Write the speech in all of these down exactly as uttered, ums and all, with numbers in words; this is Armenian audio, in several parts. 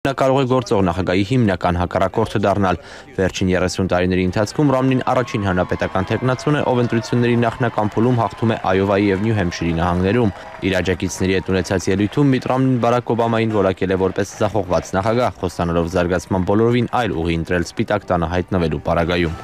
Նա կարող է գործող նախագահի հիմնական հակառակորդը դառնալ։ Վերջին երեսուն տարիների ընթացքում Ռոմնին առաջին հանրապետական թեկնածուն է, ով ընտրությունների նախնական փուլում հաղթում է Այովայի և Նյու Հեմփշիրի նահանգներում։ Իր աջակիցների հետ ունեցած ելույթում Միտ Ռոմնին Բարաք Օբամային որակել է որպես ձախողված նախագահ, խոստանալով զարգացման բոլորովին այլ ուղի ընտրել Սպիտակ տանը հայտնվելու պարագայում։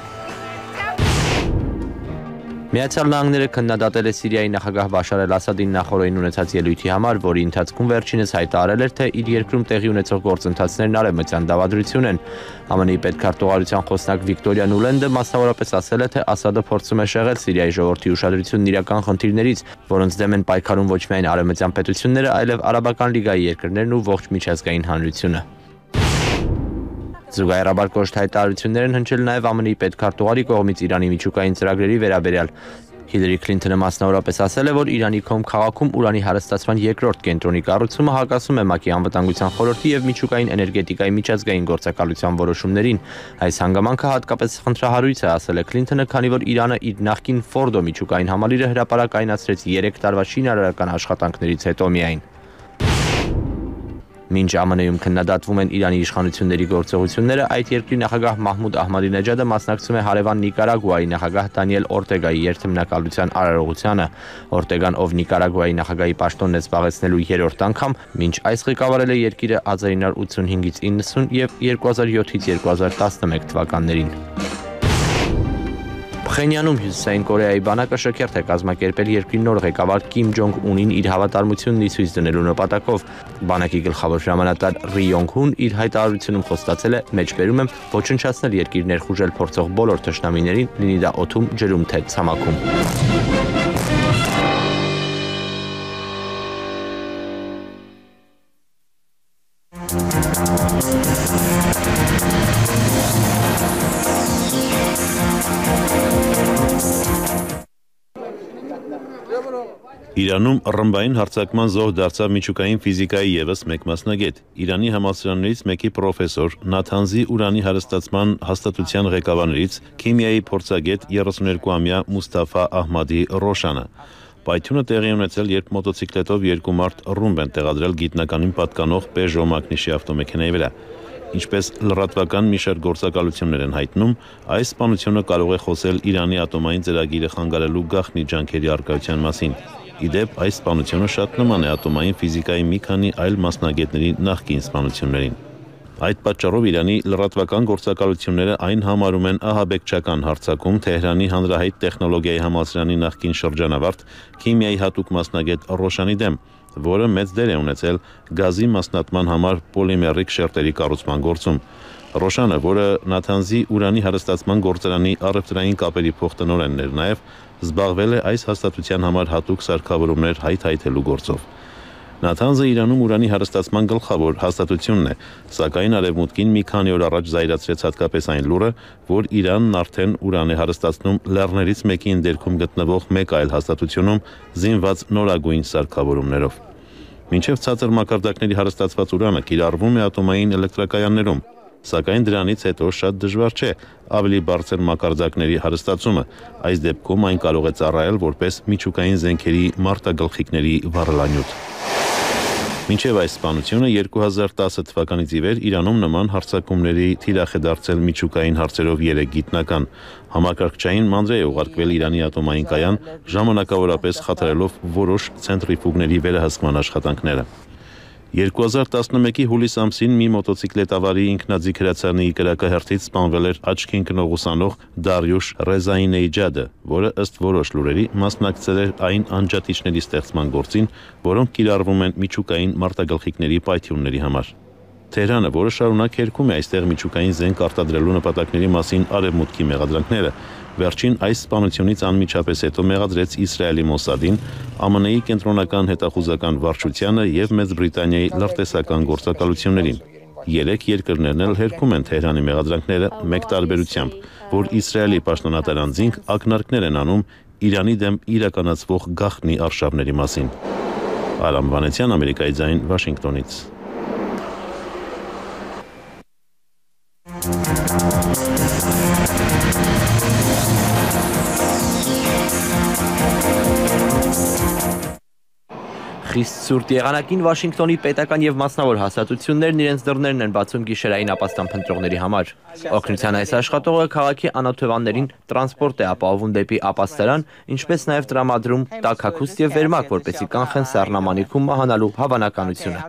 Միացյալ Նահանգները քննադատել է Սիրիայի նախագահ Բաշար Ասադին նախօրեին ունեցած ելույթի համար, որի ընթացքում վերջինս հայտարարել էր, թե իր երկրում տեղի ունեցող գործընթացներն արևմտյան դավադրություն են։ ԱՄՆ-ի պետքարտուղարության խոսնակ Վիկտորիա Նուլենդը մասնավորապես ասել է, թե Ասադը փորձում է շեղել Սիրիայի ժողովրդի ուշադրությունն իրական խնդիրներից, որոնց դեմ են պայքարում ոչ միայն արևմտյան պետությունները, այլև Արաբական լիգայի երկրներն ու ողջ միջազգային հանրությունը։ Զուգահեռաբար կոշտ հայտարարություններ են հնչել նաև ԱՄՆ-ի պետքարտուղարի կողմից Իրանի միջուկային ծրագրերի վերաբերյալ։ Հիլարի Քլինթոնը մասնավորապես ասել է, որ Իրանի Քոմ քաղաքում ուրանի հարստացման երկրորդ կենտրոնի կառուցումը հակասում է ՄԱԿ-ի անվտանգության խորհրդի և միջուկային էներգետիկայի միջազգային գործակալության որոշումներին։ Այս հանգամանքը հատկապես խնդրահարույց է, ասել է Քլինթոնը, քանի որ Իրանը իր նախկին Ֆորդո միջուկային համալիրը հրապարակայնացրեց երեք տարվա շինարարական աշխատանքներից հետո միայն։ Մինչ ԱՄՆ-ում քննադատվում են Իրանի իշխանությունների գործողությունները, այդ երկրի նախագահ Մահմուդ Ահմադինեջադը մասնակցում է հարևան Նիկարագուայի նախագահ Դանիել Օրտեգայի երթմնակալության արարողությանը։ Օրտեգան, ով Նիկարագուայի նախագահի պաշտոնն է զբաղեցնելու երրորդ անգամ, մինչ այս ղեկավարել է երկիրը հազար ինը հարյուր ութսունհինգից իննսուն և երկու հազար յոթից երկու հազար տասնմեկ թվականներին։ Փխենյանում Հյուսիսային Կորեայի բանակը շքերթ է կազմակերպել երկրի նոր ղեկավար Կիմ Ջոնգ Ունին իր հավատարմությունն ի ցույց դնելու նպատակով։ Բանակի գլխավոր հրամանատար Ռի Յոնգ Հուն իր հայտարարությունում խոստացել է, մեջբերում եմ, ոչնչացնել երկիր ներխուժել փորձող բոլոր թշնամիներին, լինի դա օդում, ջրում, թե ցամաքում։ Իրանում ռմբային հարձակման զոհ դարձավ միջուկային ֆիզիկայի ևս մեկ մասնագետ։ Իրանի համալսարաններից մեկի պրոֆեսոր, Նաթանզի ուրանի հարստացման հաստատության ղեկավարներից քիմիայի փորձագետ երեսուներկուամյա Մուստաֆա Ահմադի Ռոշանը։ Պայթյունը տեղի ունեցել, երբ մոտոցիկլետով երկու մարդ ռումբ են տեղադրել գիտնականին պատկանող Peugeot մակնիշի ավտոմեքենայի վրա։ Ինչպես լրատվական մի շարք գործակալություններ են հայտնում, այս սպանությունը կարող է խոսել Իրանի ատոմային ծրագիրը խանգարելու գաղտնի ջանքերի առկայության մասին։ Ի դեպ, այս սպանությունը շատ նման է ատոմային ֆիզիկայի մի քանի այլ մասնագետների նախկին սպանություններին։ Այդ պատճառով Իրանի լրատվական գործակալությունները այն համարում են ահաբեկչական հարձակում Թեհրանի հանրահայտ տեխնոլոգիայի համալսարանի նախկին շրջանավարտ քիմիայի հատուկ մասնագետ Ռոշանի դեմ, որը մեծ դեր է ունեցել գազի մասնատման համար պոլիմերիկ շերտերի կառուցման գործում։ Ռոշանը, որը Նաթանզի ուրանի հարստացման գործարանի առևտրային կապերի փոխտնօրենն էր նաև, զբաղվել է այս հաստատության համար հատուկ սարքավորումներ հայթայթելու գործով։ Նաթանզը Իրանում ուրանի հարստացման գլխավոր հաստատությունն է, սակայն Արևմուտքին մի քանի օր առաջ զայրացրեց հատկապես այն լուրը, որ Իրանն արդեն ուրան է հարստացնում լեռներից մեկի ընդերքում գտնվող մեկ այլ հաստատությունում զինված նորագույն սարքավորումներով։ Մինչև ցածր մակարդակների հարստացված ուրանը կիրառվում է ատոմային էլեկտրակայաններում, սակայն դրանից հետո շատ դժվար չէ ավելի բարձր մակարդակների հարստացումը, այս դեպքում այն կարող է ծառայել որպես միջուկային զենքերի մարտագլխիկների վառելանյութ։ Մինչև այս սպանությունը երկու հազար տասը թվականից ի վեր Իրանում նման հարձակումների թիրախ է դարձել միջուկային հարցերով երեք գիտնական։ Համակարգչային մանրէ է ուղարկվել Իրանի ատոմային կայան, ժամանակավորապես խաթարելով որոշ ցենտրիֆուգների վերահսկման աշխատանքները։ երկու հազար տասնմեկի հուլիս ամսին մի մոտոցիկլետավարի ինքնաձիգ հրացանի կրակահերթից սպանվել էր աչքի ընկնող ուսանող Դարյուշ Ռեզայնեյջադը, որը ըստ որոշ լուրերի մասնակցել էր այն անջատիչների ստեղծման գործին, որոնք կիրառվում են միջուկային մարտագլխիկների պայթյունների համար։ Թեհրանը, որը շարունակ հերքում է այստեղ միջուկային զենք արտադրելու նպատակների մասին արևմուտքի մեղադրանքները, վերջին այս սպանությունից անմիջապես հետո մեղադրեց Իսրայելի Մոսադին, ԱՄՆ-ի կենտրոնական հետախուզական վարչությանը և Մեծ Բրիտանիայի լրտեսական գործակալություններին։ Երեք երկրներն էլ հերքում են Թեհրանի մեղադրանքները մեկ տարբերությամբ, որ Իսրայելի պաշտոնատար անձինք ակնարկներ են անում Իրանի դեմ իրականացվող գաղտնի արշավների մասին։ Արամ Վանեցյան, Ամերիկայի ձայն, Վաշինգտոնից։ Խիստ սուրտ եղանակին Վաշինգտոնի պետական եւ մասնավոր հաստատություններն իրենց դռներն են բացում գիշերային ապաստան փնտրողների համար։ Օգնության այս աշխատողը քաղաքի անօթևաններին տրանսպորտ է ապահովում դեպի ապաստարան, ինչպես նաեւ տրամադրում տաքաքուստ եւ վերմակ, որպեսզի կանխեն սառնամանիքում մահանալու հավանականությունը։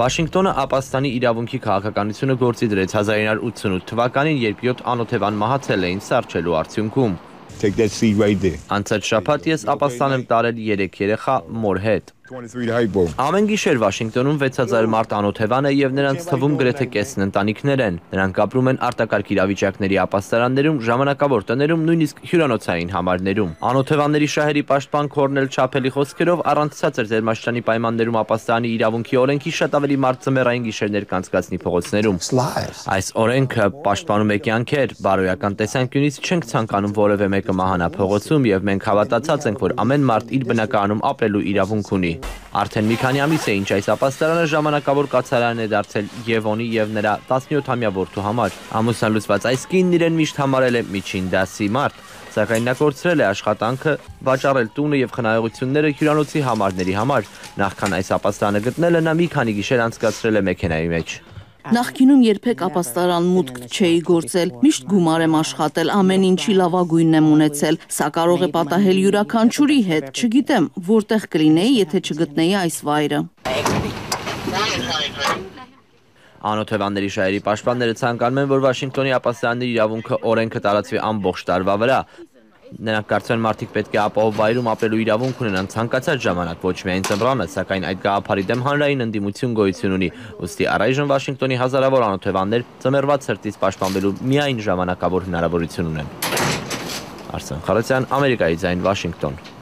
Վաշինգտոնը ապաստանի իրավունքի քաղաքականությունը գործի դրեց հազար ինը հարյուր ութսունութ թվականին, երբ յոթ անօթևան մահացել էին սառչելու արդյունքում։ Անցած շաբաթ ես ապաստան եմ տարել երեք երեխա մոր հետ։ Ամեն գիշեր Վաշինգտոնում վեց հազար մարդ անօթևան է եւ նրանց թվում գրեթե կեսն ընտանիքներ են։ Նրանք ապրում են արտակարգ իրավիճակների ապաստարաններում, ժամանակավոր տներում, նույնիսկ հյուրանոցային համարներում։ Անօթևանների շահերի պաշտպան Քորնել Չափելի խոսքերով առանց ցածր ձերմաշճանի պայմաններում ապաստանի իրավունքի օրենքի շատ ավելի մարդ ձմեռային գիշերներ կանցկացնի փողոցներում։ Այս օրենքը պաշտպանում է կյանքեր, բարոյական տեսանկյունից չենք ցանկանում որևէ մեկը մահանա փողոցում եւ մենք հավատացած ենք, որ ամեն մարդ իր բնակարանում ապրելու իրավունք ունի։ Արդեն մի քանի ամիս է ինչ այս ապաստարանը ժամանակավոր կացարան է դարձել Եվոնի եւ նրա տասնյոթամյա որդու համար։ Ամուսնալուծված այս կինն իրեն միշտ համարել է միջին դասի մարդ, սակայն նա կորցրել է աշխատանքը, վաճառել տունը եւ խնայողությունները հյուրանոցի համարների համար։ Նախքան այս ապաստանը գտնելը նա մի քանի գիշեր անցկացրել է մեքենայի մեջ։ Նախկինում երբեք ապաստարան մուտք չէի գործել, միշտ գումար եմ աշխատել, ամեն ինչի լավագույնն եմ ունեցել, սա կարող է պատահել յուրաքանչյուրի հետ, չգիտեմ, որտեղ կլինեի, եթե չգտնեի այս վայրը։ Անօթևանների շահերի պաշտպանները ցանկանում են, որ Վաշինգտոնի ապաստանների իրավունքը օրենքը տարածվի ամբողջ տարվա վրա։ Նրանք կարծում են մարդիկ պետք է ապահով վայրում ապրելու իրավունք ունենան ցանկացած ժամանակ, ոչ միայն ձմռանը, սակայն այդ գաղափարի դեմ հանրային ընդդիմություն գոյություն ունի։ Ուստի առայժմ Վաշինգտոնի հազարավոր անօթևաններ ձմեռվա ցրտից պաշտպանվելու միայն ժամանակավոր հնարավորություն ունեն։ Արսեն Խարոցյան, Ամերիկայի ձայն, Վաշինգտոն։